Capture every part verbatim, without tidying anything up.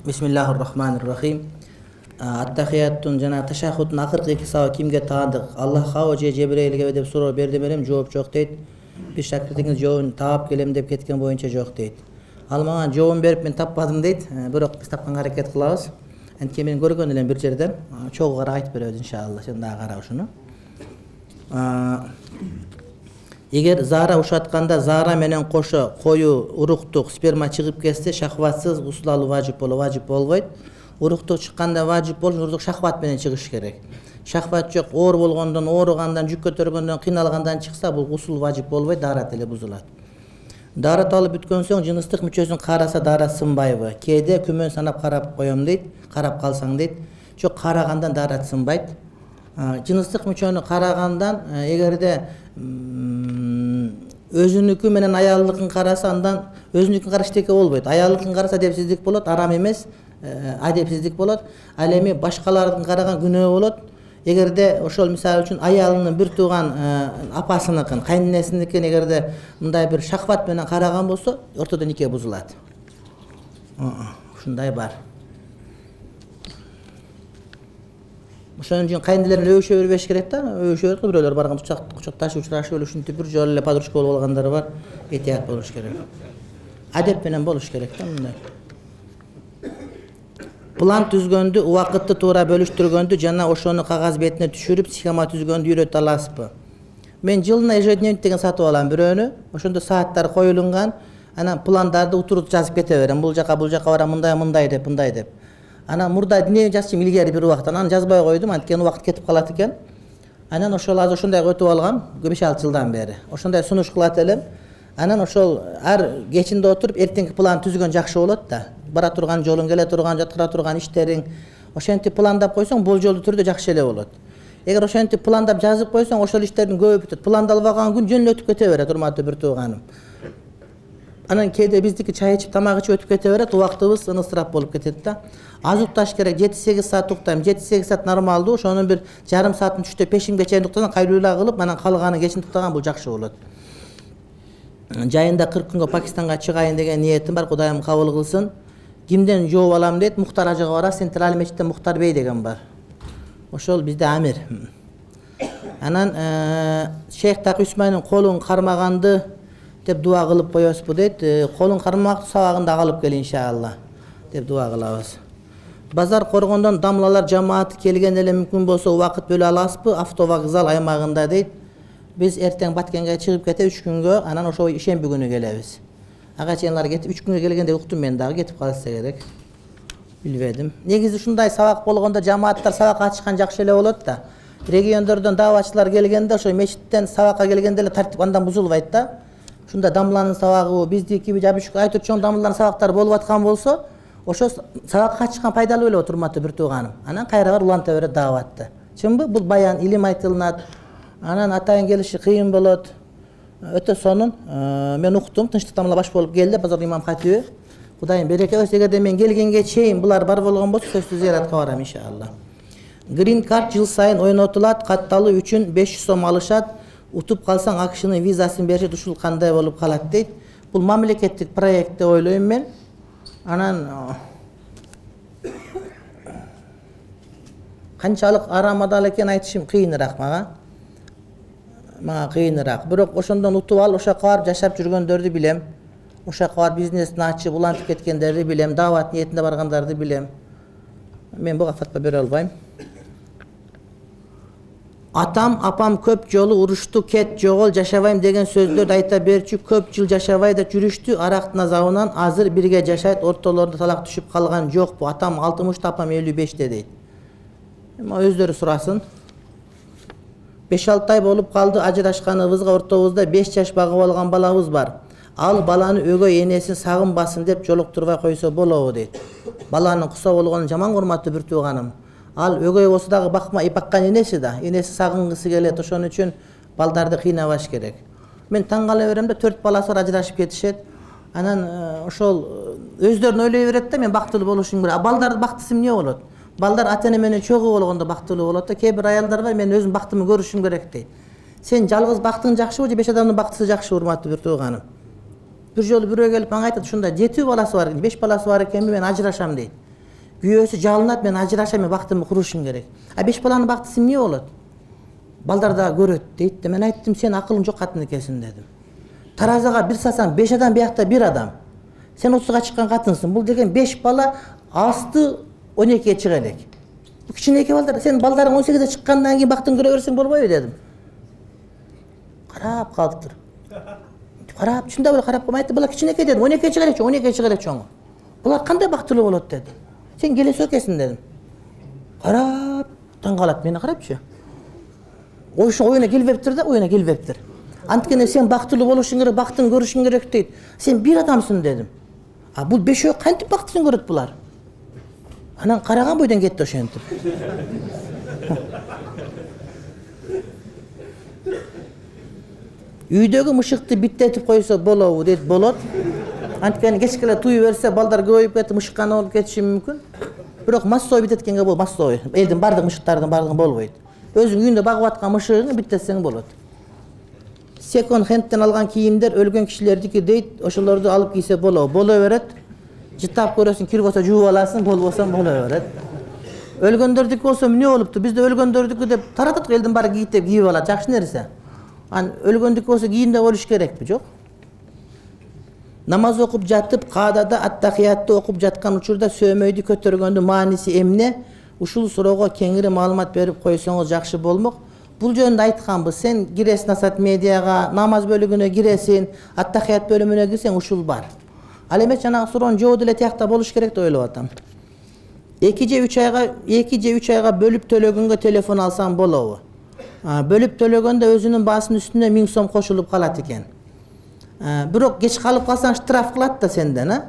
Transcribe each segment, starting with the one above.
Бисмиллахир-рахманир-рахим. Ат-тахияттун жана ташаххудтун акыркы эки саба кимге таандык? Аллахка же Жебрейлге деп суроо берди берем, жооп жок дейт. Биз шакиртиңиз жообун таап келем деп кеткен боюнча жок дейт. Ал мага жообун берип мен таппадым дейт. Бирок биз тапканга аракет кылабыз. Анткени мен көргөн элем бир жерден. Чогуу кара айтып беребиз иншалла. Сен дагы кара ушуну. Эгер заара ушатканда заара менен кошо кою уруктук сперма чыгып кетсе, шахватсыз гусул алуу важип боло, важип болбойт. Уруктук чыкканда важип болуш, уруктук шахват менен чыгыш керек. Шахват жок, оор болгондон, ооругандан, жүк көтөргөндөн, кыйналгандан чыкса, бул гусул важип болбойт, даарат эле бузулат. Даарат алып бүткөн соң жыныстык мүчөсүн караса даарат сынбайбы? Кээде күмөн санап карап коем дейт, карап калсаң дейт. Жок, карагандан даарат сынбайт. Жыныстык мүчөнү карагандан эгерде өзүнүкү менен аялдыкын караса, андан өзүнүкүн караш эчтеке болбойт. Аялдыкын караса адепсиздик болот, арам эмес, адепсиздик болот. Ал эми башкалардын караган күнөө болот. Эгерде ошол мисалы үчүн аялынын бир тууган апасыныкын, кайненесиникин эгерде мындай бир шахват менен караган болсо, ортодо нике бузулат. Ушундай бар. Ошон үчүн кайнелер өбүшө бербеш керек да, өбүшө берет го, бирөөлөр барган кучакташып учурашып эле ушинтип бир жолу эле подружка болуп алгандар бар. Этият болуш керек. Адеп менен болуш керек да мындай. План түзгөндү, убакытты туура бөлүштүргөндү жана ошону кагаз бетине түшүрүп, схема түзгөндү үйрөтө аласызбы? Мен жылына ежедневник деген сатып алам бирөөнү. Ошондо сааттар коюлунган, анан пландарды утуруп жазып кете берем. Бул жака, бул жака барам, мындай, мындай деп, мындай деп. Анан мурда дневник жазчым илгери бир убакта, анан жазбай койдум, анткени убакыт кетип калат экен. Анан ошол азыр ошондой өтүп алгам, беш алты жылдан бери. Ошондой сунуш кылат элем. Анан ошол ар кечинде отуруп эртеңки план түзгөн жакшы болот да. Бара турган жолуң, келе турган, жаткыра турган иштериң, ошентип пландап койсоң, болжолдуу түрдө жакшы эле болот. Эгер ошентип пландап жазып койсоң, ошол иштердин көбү бүтөт. Пландалбаган күн жөн эле өтүп кете берет, урматтуу бир тууганым. Анан кээде биздики чай ичип, тамак ичип өтүп кете берет, убактыбыз ынысырап болуп кетет да. Аз укташ керек, жети сегиз саат уктайм. жети сегиз саат нормалдуу, ошонун бир жарым саатын түштө пешимге чейин уктасаң, кайлуулаа кылып, анан калганын кечин уктаган бул жакшы болот. Жайында кырк күнгө Пакистанга чыгайын деген ниетим бар, Кудайым кабыл кылсын. Кимден жооп алам дейт, Мухтар ажыга барасыз, Централь мечитте Мухтар бей деген бар. Ошол бизде амир. Анан Шейх Такы Усмайнын колун кармаганды деп дуа кылып коесузбу дейт. Колун кармак сабагында алып кел иншалла деп дуа кылабыз. Базар коргондон дамлалар жамааты келген эле мүмкүн болсо убакыт бөлө аласызбы? Автовокзал аймагында дейт. Биз эртең Баткенге чыгып кете үч күнгө, анан ошо ишемби күнү келебиз. Ага чейинлар кетип үч күнгө келгенде уктум мен дагы, кетип калса керек. Билбедим. Негизи ушундай сабак болгондо жамааттар сабак ачышкан жакшы эле болот да. Региондордон дааватчылар келгенде ошо мечиттен сабакка келгенде эле тартип андан бузулбайт да. Ушунда дамланын сабагы, биздики жабышык айтып чоң дамланын сабактары болуп аткан болсо, ошо сабакка чыккан пайдалуу эле болот, урматтуу бир тууганым. Анан кайра бар уланта берет дааватты. Чынбы? Бул баян, илим айтылынат. Анан атайын келиши кыйын болот. Өтө сонун. Мен уктум, тынчтык тамла баш болуп келди, базар имам хатиби. Кудайым береке берсин, эгерде мен келгенге чейин булар бар болгон болсо, сөзсүз зыяратка барам иншалла. Green card жыл сайын ойнотулат, катталуу үчүн беш жүз сом алышат. Утуп калсаң акшынын визасын беришет, ушул кандай болуп калат дейт. Бул мамлекеттик проект деп ойлойм мен. Анан канчалык арамадал экен айтышым кыйыныраак мага. Мага кыйыныраак. Бирок ошондон утуп ал, ошо жака барып жашап жүргөндөрдү билем. Ошо жака барып бизнесин ачып, улантып кеткендерди билем, даават ниетинде баргандарды билем. Мен буга фатва бере албайм. Атам, апам көп жолу урушту, кет, жогол, жашабайм деген сөздөрдү айта берчү, көп жыл жашабай да жүрүштү, арактын азабынан азыр бирге жашайт, ортолорунда талак түшүп калган жокпу? Атам алтымышта, апам элүү беште дейт. Эми өздөрү сурасын. беш алты ай болуп калды ажырашканыбызга, ортобузда беш жаш багып алган балабыз бар. Ал баланы өгөй энесин сагынбасын деп жолуктурбай койсо болобу дейт. Баланын куса болгонун жаман урматтуу бир тууганым. Ал өгөй болсо дагы бакмай баккан энеси да, энеси сагынгысы келет, ошон үчүн балдарды кыйнабаш керек. Мен таң кала берем да, төрт баласы бар ажырашып кетишет. Анан ошол өздөрүн ойлой берет да, мен бактылуу болушум керек. А балдардын бактысы эмне болот? Балдар ата-эне менен чогуу болгондо бактылуу болот да. Кээ бир аялдар бар, мен өзүм бактымды көрүшүм керек дейт. Сен жалгыз бактың жакшыбы же беш адамдын бактысы жакшы, урматтуу бир тууганым? Бир жолу бирөө келип мага айтат, ушундай жети баласы бар, беш баласы бар экенби, мен ажырашам дейт. күйөөсү жалынат, мен ажырашам, мен бактымды курушум керек. А беш баланын бактысы эмне болот? Балдар да көрөт дейт. Мен айттым, сен акылың жок катын экенсиң дедим. Таразага бир сасаң беш адам, биякта бир адам. Сен отузга чыккан катынсың. Бул деген беш бала асты он экиге чыга элек. Бу кичинекей балдар, сен балдарың он сегизге чыккандан кийин бактын көрө берсең болбойбу дедим. Карап калыптыр. Карап, чында эле карап калмай айтты, бала кичинекей дедим. он экиге чыга элек, он экиге чыга элек чоңу. Булар кандай бактылуу болот деди. Сен келесиң экенсиң дедим. Карап, таң калат мени карапчы. Оюшу оюна келбептир да, оюна келбептир. Анткени сен бактылуу болушуң керек, бактын көрүшүң керек дейт. Сен бир адамсың дедим. А бул бешөө кантип бактысын көрөт булар? Анан караган бойдон кетти ошентип. Үйдөгү мышыкты биттетип койсо болобу дейт, болот. Анткени кечке эле туй берсе балдар көбөйүп кетип мышыккана болуп кетиши мүмкүн. Бирок массой биттеткенге болот, массой. Элдин бардык мышыктардын бардыгы болбойт. Өзүң үйүндө багып аткан мышыгыңды биттетсең болот. Секонд хендтен алган кийимдер өлгөн кишилердики дейт, ошолорду алып кийсе болобу? Боло берет. Жытап көрөсүң, кир болсо жууп аласың, болбосо боло берет. Өлгөндөрдүкү болсо эмне болупту? Бизде өлгөндөрдүкү деп таратат, элдин баары кийип кийип алат, жакшы нерсе. Ан өлгөндүкү болсо кийимде болуш керекпи? Жок. Намаз окуп жатып, каадада аттахиятты окуп жаткан учурда сөөмөйдү көтөргөндүн мааниси эмне? Ушул суроого кеңири маалымат берип койсоңуз жакшы болмок. Бул жөнүндө айтканбыз. Сен киресиң Асат медиага, намаз бөлүгүнө киресиң, аттахият бөлүмүнө кирсең ушул бар. Ал эмес жанагы суроонун жообу деле тиякта болуш керек деп ойлоп атам. эки же үч айга, эки же үч айга бөлүп төлөгөнгө телефон алсаң болобу? Бөлүп төлөгөндө өзүнүн баасынын үстүнө миң сом кошулуп калат экен. Бирок кеч калып калсаң штраф кылат да сенден, а?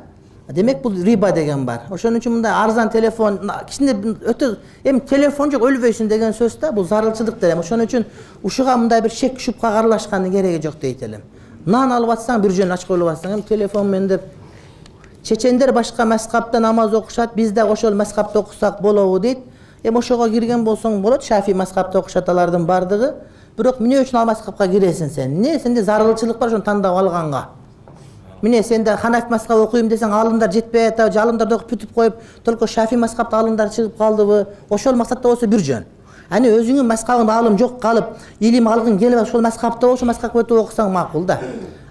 Демек бул риба деген бар. Ошон үчүн мындай арзан телефон, кичине өтө эми телефон жок өлбөйсүн деген сөз да, бул зарылчылык делем. Ошон үчүн ушуга мындай бир шек шупкага аралашкандын кереги жок дейт элем. Нан алып атсаң, бир жөн ачып коюп атсаң, эми телефон мен деп чечендер башка мазхабта намаз окушат, биз да ошол мазхабта окусак болобу дейт. Эми ошого кирген болсоң болот, Шафи мазхабта окушат алардын бардыгы. Бирок эмне үчүн ал мазхабка киресиң сен? Эмне сенде зарылчылык бар ошону тандап алганга? Міне сенде Ханафи мазхабы окуйм десең, алымдар жетпей атабы, же алымдарды окуп бүтүп коюп, только Шафи мазхабта алымдар чыгып калдыбы? Ошол максатта болсо бир жөн. Аны өзүңүн мазхабыңда алым жок калып, илим алгың келип ошол мазхабта болсо мазхабка өтүп окусаң макул да.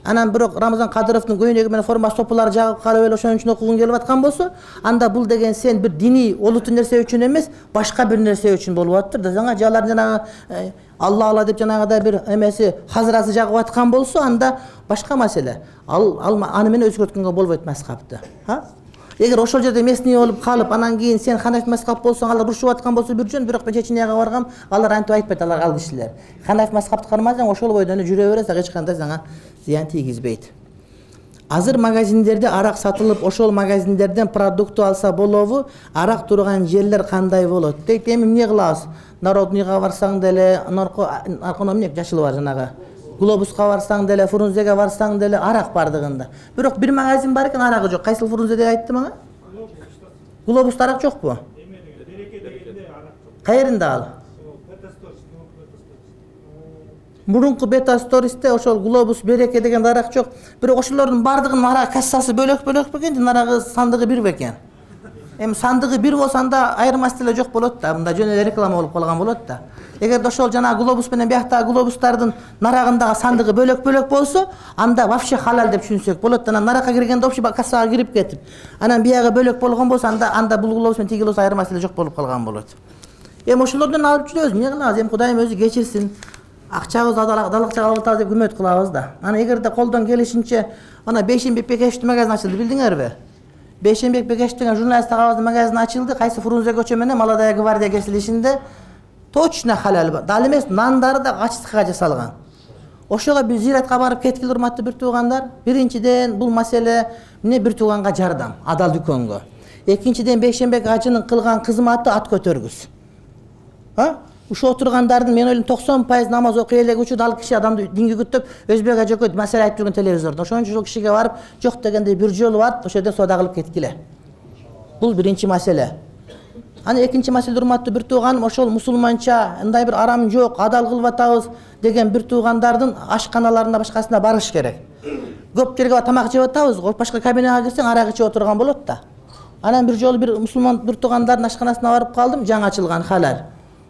Анан бирок Рамазан Кадыровдун көйнөгү менен форма сопулары жагып калып эле ошон үчүн окугуң келип аткан болсо, анда бул деген сен бир диний олуттуу нерсе үчүн эмес, башка бир нерсе үчүн болуп атыптыр да. Жаңа жалар жанагы Алла Алла деп жанагыдай бир эмеси хазырасы жагып аткан болсо, анда башка маселе. Ал аны менен өзгөрткөнгө болбойт мазхабты. Ha? Эгер ошол жерде местный болуп калып, анан кийин сен Ханафи мазхаб болсоң, алар урушуп аткан болсо бир жөн, бирок мен Чеченияга баргам, алар антип айтпайт, алар ал кишилер. Ханафи мазхабты кармасаң, ошол бойдон жүрө бересиң, эч кандай сага зыян тийгизбейт. Азыр магазиндерде арак сатылып, ошол магазиндерден продукты алса болобу? Арак турган жерлер кандай болот? Дейт, эми эмне кылабыз? Народныйга барсаң деле, нарконо эмне жашыл бар жанагы. Глобуска барсаң деле, Фрунзеге барсаң деле арак бардыгында. Бирок бир магазин бар экен, арагы жок. Кайсыл Фрунзеде айтты мага? Глобуста арак жокпу? Кайеринде ал? Мурунку Бета Стористе ошол Глобус Береке деген арак жок. Бирок ошолордун бардыгынын арак кассасы бөлөк-бөлөк бекен, арагы сандыгы бир бекен. Эми сандыгы бир болсо анда айырмасы деле жок болот да. Мында жөн эле реклама болуп калган болот да. Эгерде ошол жана Глобус менен бияктагы глобустардын нарагындагы сандыгы бөлөк-бөлөк болсо, анда вообще халал деп түшүнсөк болот. Анан наракка киргенде общий кассага кирип кетип, анан биягы бөлөк болгон болсо, анда анда бул Глобус менен тиги болсо айырмасы деле жок болуп калган болот. Эми ошолордон алып жүрөбүз, эмне кылабыз? Эми Кудайым өзү кечирсин. Акчабыз адалакча алып атабыз деп үмөт кылабыз да. Аны эгерде колдон келишинче, ана Бейшембек Бекешевдин магазини ачылды, билдиңерби? Бейшембек Бекешев деген журналист агабыздын магазини ачылды, кайсы Фрунзе көчө менен Молодая гвардия кесилишинде. Точно халал. Дал эмес, нандары да ачтыкка жасалган. Ошого биз зиратка барып кеткиле, урматтуу бир туугандар. Биринчиден бул маселе эмне бир тууганга жардам, адал дүкөнгө. Экинчиден Бейшембек ажынын кылган кызматы ат көтөргүс. Ha? Ушо отургандардын мен ойлойм токсон пайыз намаз окуй элек учурда ал киши адамды динге күттөп Өзбек ажөкөй маселе айтып жүргөн телевизордо. Ошон үчүн ошол кишиге барып, жок дегенде бир жолу барып, ошол жерде соода кылып кеткиле. Бул биринчи маселе. Аны экинчи маселе, урматтуу бир тууганым, ошол мусулманча ындай бир арам жок, адал кылып атабыз деген бир туугандардын ашканаларына башкасына барыш керек. Көп жерге тамак жеп атабыз, башка кабинага кирсең арак ичип отурган болот да. Анан бир жолу бир мусулман бир туугандардын ашканасына барып калдым, жаңы ачылган халал.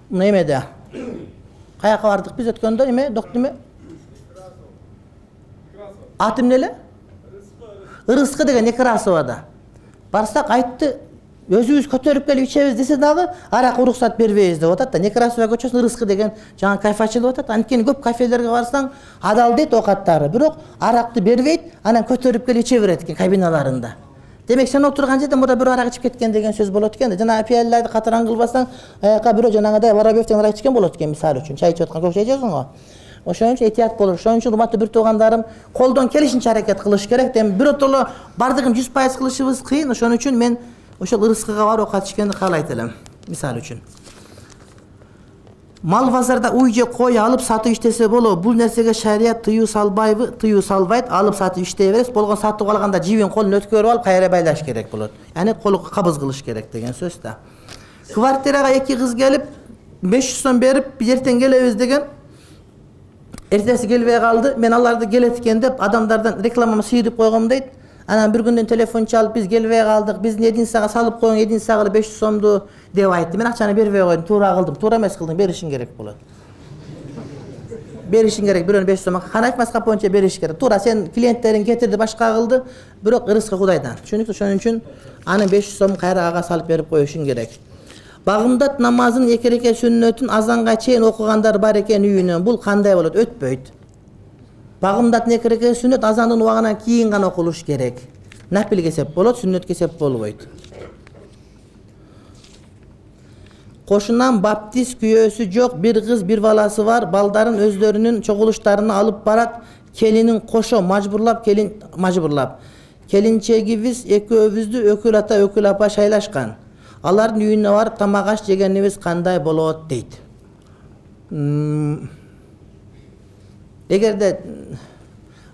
Мына эмеде. Каяка бардык биз өткөндө, эме, доктор эме? Аты эмне эле? Ырыскы деген Некрасовада. Барсак айтты, өзүбүз көтөрүп келип ичебиз десе дагы арак уруксат бербейбиз деп атат да. Некрасова көчөсүнө Ырыскы деген жаңы кафе ачылып атат. Анткени көп кафелерге барсаң адал дейт оокаттары, бирок аракты бербейт, анан көтөрүп келип иче берет экен кабиналарында. Демек сен отурган жерде мурда бирөө арак ичип кеткен деген сөз болот экен да. Жана пиялларды катаран кылбасаң, аяка бирөө жанагыдай Воробьевден арак ичкен болот экен мисалы үчүн. Чай ичип аткан көп чай ичесиң го. Ошон үчүн этият болуш. Ошон үчүн урматтуу бир туугандарым, колдон келишинче аракет кылыш керек. Дем биротоло бардыгын жүз пайыз кылышыбыз кыйын. Ошон үчүн мен ошол Ырыскыга барып оокат ичкенди каалайт элем. Мисалы үчүн. Мал базарда уй же кой алып сатып иштесе болобу? Бул нерсеге шарият тыюу салбайбы? Тыюу салбайт. Алып сатып иштей бересиз. Болгон сатып алганда жибин колун өткөрүп алып кайра байлаш керек болот. Яни колу кабыз кылыш керек деген сөз да. Квартирага эки кыз келип беш жүз сом берип эртең келебиз деген. Эртеси келбей калды. Мен аларды келет экен деп адамдардан рекламамы сыйдып койгом дейт. Анан бир күндөн телефон чалып биз келбей калдык. Биздин единицага салып коюң, единицага беш жүз сомду деп айтты. Мен акчаны бербей койдум, туура кылдым. Туура эмес кылдым, беришиң керек болот. Беришиң керек, бирөөнү беш жүз сом. Кана айтмаска боюнча бериш керек. Туура сен клиенттериң кетирди, башка кылды, бирок Ырыскы Кудайдан. Түшүнүктүү? Ошон үчүн анын беш жүз сом кайра ага салып берип коюшуң керек. Багымдат намазын эки рекет сүннөтүн азанга чейин окугандар бар экен үйүнөн. Бул кандай болот? Өтпөйт. Багымдат эки рекет сүннөт азандын убагынан кийин гана окулуш керек. Нафил кесеп болот, сүннөт кесеп болбойт. Кошунан баптист күйөөсү жок бир кыз, бир баласы бар. Балдарын өздөрүнүн чогулуштарына алып барат. Келинин кошо мажбурлап, келин мажбурлап. Келинчегибиз экөөбүздү өкүл ата, өкүл апа шайлашкан. Алардын үйүнө барып тамак аш жегенибиз кандай болот дейт. Эгерде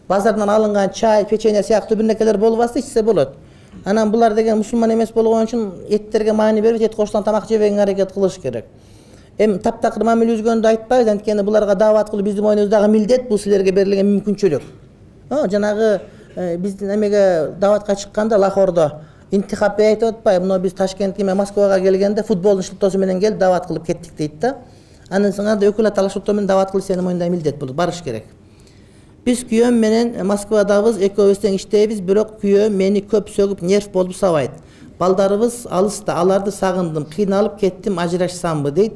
базардан алынган чай, печенье сыяктуу бир нерселер болбаса ичсе болот. Анан булар деген мусулман эмес болгон үчүн эттерге маани бербейт, эт кошулган тамак жебегенге аракет кылыш керек. Эми таптакыр мамиле үзгөндү айтпайбыз, анткени буларга даават кылуу биздин мойнубуздагы милдет, бул силерге берилген мүмкүнчүлүк. Жанагы биздин эмеге дааватка чыкканда Лахордо интихапты айтып атпайбы, мына биз Ташкентке, Москвага келгенде футболдун шылтоосу менен келип даават кылып кеттик дейт да. Андан соң анда өкүл аталык шылтоо менен даават кылып сенин мойнуңда милдет болот, барыш керек. Биз күйөөм менен Москвадабыз, экөөбүз тең иштейбиз, бирок күйөөм мени көп сөгүп нерв болуп сабайт. Балдарыбыз алыста, аларды сагындым, кыйналып кеттим, ажырашсамбы дейт.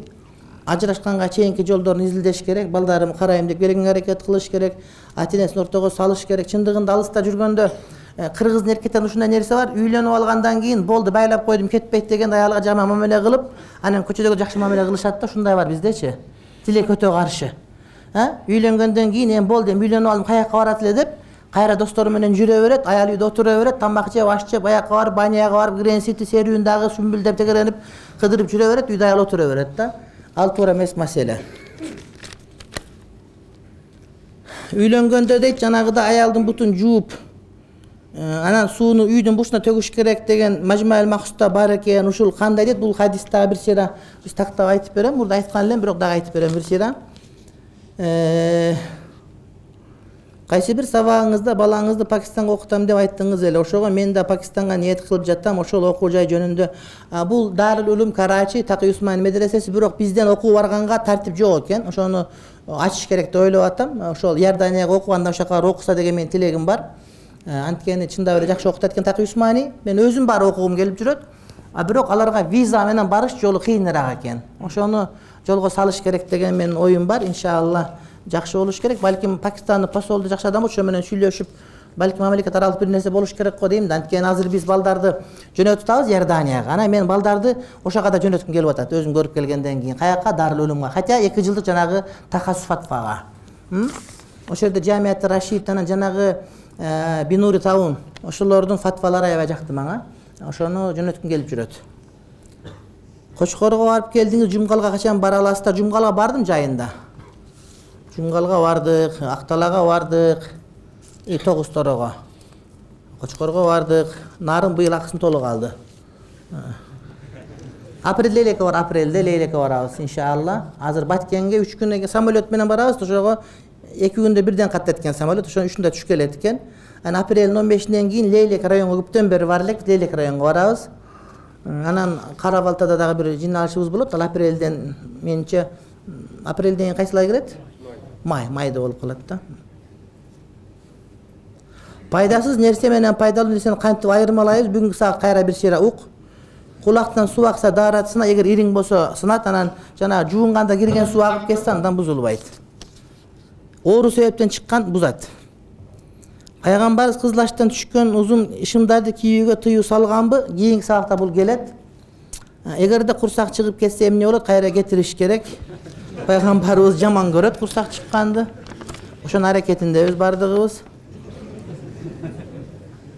Ажырашканга чейинки жолдорун изилдеш керек, балдарым карайм деп келгенге аракет кылыш керек, ата-энесин ортого салыш керек. Чындыгында алыста жүргөндө кыргыздын эркектеринин ушундай нерсе бар, үйлөнүп алгандан кийин болду байлап койдум кетпейт деген аялга жаман мамиле кылып, анан көчөдөгү жакшы мамиле кылышат да, ушундай бар биздечи. Тилек өтө каршы. Үйлөнгөндөн кийин эми болду, эми үйлөнүп алдым, каяка барат эле деп, кайра достору менен жүрө берет, аял үйдө отура берет, тамак жеп, аш жеп, аяка барып, баняга барып, Грен-Сити серүүндагы сүмбүлдөп тегеренип, кыдырып жүрө берет, үйдө аял отура берет да. Ал туура эмес маселе. Үйлөнгөндө дейт, жанагыда аялдын бутун жууп, анан сууну үйдүн бушуна төгүш керек деген Мажмаил Махсуда бар экен. Ушул кандай дейт? Бул хадистагы бир сыйра биз тактап айтып берем. Мурда айткан элем, бирок дагы айтып берем бир сыйра. Кайсы бир сабагыңызда балаңызды Пакистанга окутам деп айттыңыз эле. Ошого мен да Пакистанга ниет кылып жатам, ошол окуу жай жөнүндө. Бул Дарул Улум Карачи, Такый Усман медресеси, бирок бизден окуу барганга тартип жок экен. Ошону ачыш керек деп ойлоп атам. Ошол Иорданияга окуганда ошака окуса деген менин тилегим бар. Анткени чындап эле жакшы окутат экен Такый Усмани. Мен өзүм бар окугум келип жүрөт. А бирок аларга виза менен барыш жолу кыйыныраак экен. Ошону жолго салыш керек деген менин оюм бар. Иншалла жакшы болуш керек. Балким Пакистандын посолу жакшы адам ошо менен сүйлөшүп, балким мамлекет аралык бир нерсе болуш керек го дейм да. Анткени азыр биз балдарды жөнөтүп атабыз Иорданияга. Анан мен балдарды ошого да жөнөткүм келип атат. Өзүм көрүп келгенден кийин каяка Дарул Улумга, хотя эки жылдык жанагы тахассус фатвага. Ошол жерде Жамиат Рашид анан жанагы Бинури Таун, ошолордун фатвалары аябай жакты мага. Ошону жөнөткүм келип жүрөт. Кочкорго барып келдиңиз, Жумгалга качан бара аласыздар? Жумгалга бардым жайында. Жумгалга бардык, Акталага бардык, и Тогуз Торого. Кочкорго бардык. Нарын быйыл акысын толук алды. Апрелде элеке бар, апрелде элеке барабыз иншалла. Азыр Баткенге үч күнүн самолет менен барабыз, ошого эки күндө бирден каттайт экен самолет, ошонун үчүндө түшүп келет экен. Анан апрелдин он бешинен кийин Лейлек районго көптөн бери бар элек, Лейлек районго барабыз. Анан Кара Балтада дагы бир жыйналышыбыз болот. Ал апрелден, менимче апрелден кайсыл ай кирет? Май, майда болуп калат да. Пайдасыз нерсе менен пайдалуу нерсени кантип айырмалайбыз? Бүгүнкү саат кайра бир шере ук. Кулактан суу акса daarатсына, эгер ириң болсо сынат, анан жана жуунганда кирген суу агып кетсе андан бузулбайт. Оору себептен чыккан бузат. Пайгамбарыбыз кызыл аштан түшкөн узун ишимдарды кийүүгө тыюу салганбы? Кийинки саатта бул келет. Эгерде курсак чыгып кетсе эмне болот? Кайра кетириш керек. Пайгамбарыбыз жаман көрөт курсак чыкканды. Ошонун аракетиндебиз бардыгыбыз.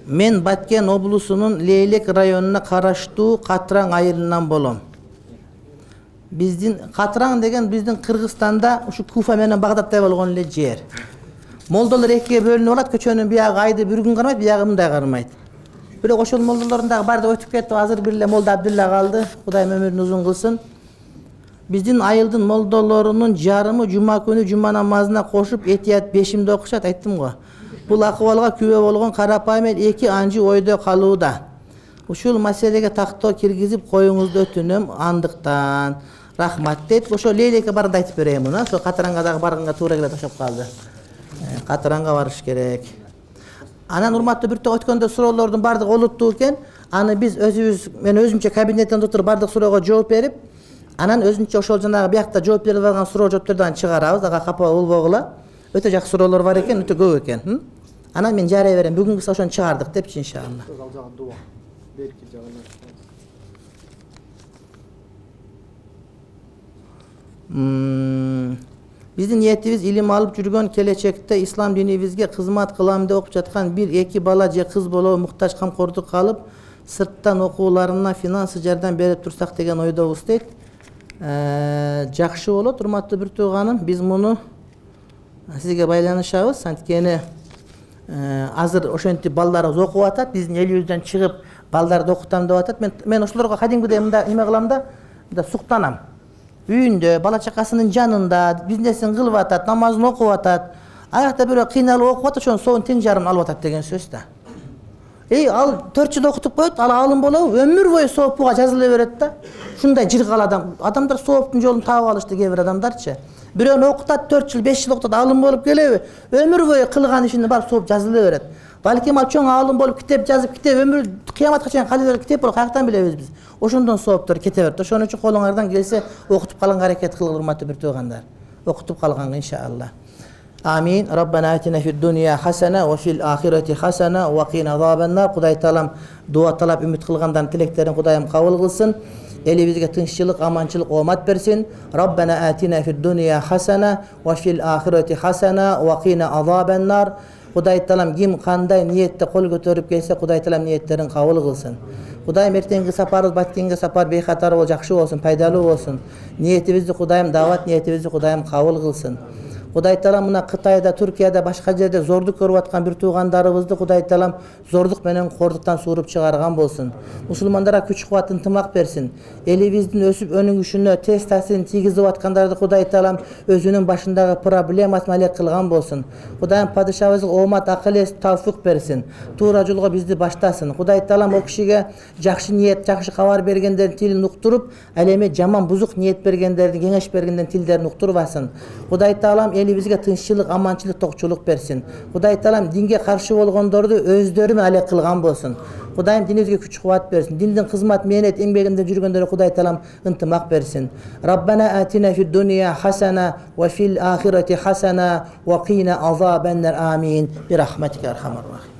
Мен Баткен облусунун Лейлек районуна караштуу Катраң айылынан болом. Биздин Катраң деген биздин Кыргызстанда ушу Куфа менен Багдадтай болгон эле жер. Молдолор экиге бөлүнүп алат, көчөнүн биягы айды бир күн кармайт, биягы мындай кармайт. Бирок ошол молдолордун дагы баары өтүп кетти, азыр бир эле молда Абдулла калды. Кудайым өмүрүн узун кылсын. Биздин айылдын молдолорунун жарымы жума күнү жума намазына кошуп этият бешимди окушат, айттым го. Бул акыбалга күбө болгон карапайым эл эки анжы ойдо калууда. Ушул маселеге тактоо киргизип коюңузду өтүнөм андыктан. Рахмат дейт. Ошо Лейлекке барганда айтып берейин муну. Ошо Катаранга дагы барганга туура келет, ошоп калды. Катаранга барыш керек. Анан урматтуу биртөө өткөндө суроолордун бардыгы олуттуу экен. Аны биз өзүбүз, мен өзүмчө кабинеттен отуруп бардык суроого жооп берип, анан өзүнчө ошол жанагы биякта жооп берип алган суроо жооптордон чыгарабыз. Ага капа болбогула. Өтө жакшы суроолор бар экен, өтө көп экен. Анан мен жарай берем. Бүгүнкү ошону чыгардык депчи иншалла. Ал жагы дуа. Берки жагына. Биздин ниетибиз илим алып жүргөн, келечекте ислам динибизге кызмат кылам деп окуп жаткан бир эки бала же кыз болобу муктаж камкордук алып, сырттан окууларына финансы жардам берип турсак деген ойдобуз дейт. Жакшы болот, урматтуу бир тууганым. Биз муну сизге байланышабыз. Анткени азыр ошентип балдарыбыз окуп атат, биздин элибизден чыгып балдарды окутам деп атат. Мен мен ошолорго кадимкидей мында эме кылам да, мында суктанам. Үйүндө, бала чакасынын жанында бизнесин кылып атат, намазын окуп атат. Аякта бирөө кыйналып окуп атат, ошонун соонун тең жарымын алып атат деген сөз да. Эй, ал төрт жыл окутуп коет, ал алым болобу? Өмүр бою соопуга жазыла берет да. Ушундай жыргал адам. Адамдар сооптун жолун таап алышты, кээ бир адамдарчы. Бирөөнү окутат, төрт жыл, беш жыл окутат, алым болуп келеби? Өмүр бою кылган ишини барып сооп жазыла берет. Балким ал чоң алым болуп китеп жазып, китеп өмүр кыяматка чейин кала берет, китеп болуп каяктан билебиз биз? Ошондон сооптор кете берет. Ошон үчүн колуңардан келсе окутуп калганга аракет кылгыла, урматтуу бир туугандар. Окутуп калганга иншалла. Амин. Раббана атина фид дунья хасана ва фил ахирати хасана ва кина азабан нар. Кудай таалам дуа талап үмүт кылгандардын тилектерин Кудайым кабыл кылсын. Элибизге тынччылык, аманчылык, оомат берсин. Раббана атина фид дунья хасана ва фил ахирати хасана ва кина азабан нар. Кудай таалам ким кандай ниетте кол көтөрүп келсе, Кудай таалам ниеттерин кабыл кылсын. Кудайым эртеңки сапарыбыз, Баткенге сапар бейхатар болуп жакшы болсун, пайдалуу болсун. Ниетибизди Кудайым даават ниетибизди Кудайым кабыл кылсын. Кудай таалам мына Кытайда, Түркияда, башка жерде зордук көрүп аткан бир туугандарыбызды Кудай таалам зордук менен кордуктан сууруп чыгарган болсун. Мусулмандарга күч кубат, ынтымак берсин. Элибиздин өсүп өнүгүшүнө тез таасирин тийгизип аткандарды Кудай таалам өзүнүн башындагы проблемасын алек кылган болсун. Кудайым падышабызга оомат, акыл эс, тавфик берсин. Туура жолго бизди баштасын. Кудай таалам о кишиге жакшы ниет, жакшы кабар бергендердин тилин уктуруп, ал эми жаман бузук ниет бергендердин, кеңеш бергендердин тилдерин уктурбасын. Кудай таалам элибизге тынччылык, аманчылык, токчулук берсин. Кудай таалам динге каршы болгондорду өздөрү менен алек кылган болсун. Кудайым динибизге күч кубат берсин. Диндин кызмат, мээнет, эмгегинде жүргөндөргө Кудай таалам ынтымак берсин. Раббана атина фид дунья хасана ва фил ахирати хасана ва кина азабан нар. Амин. Би рахматика архамар рахим.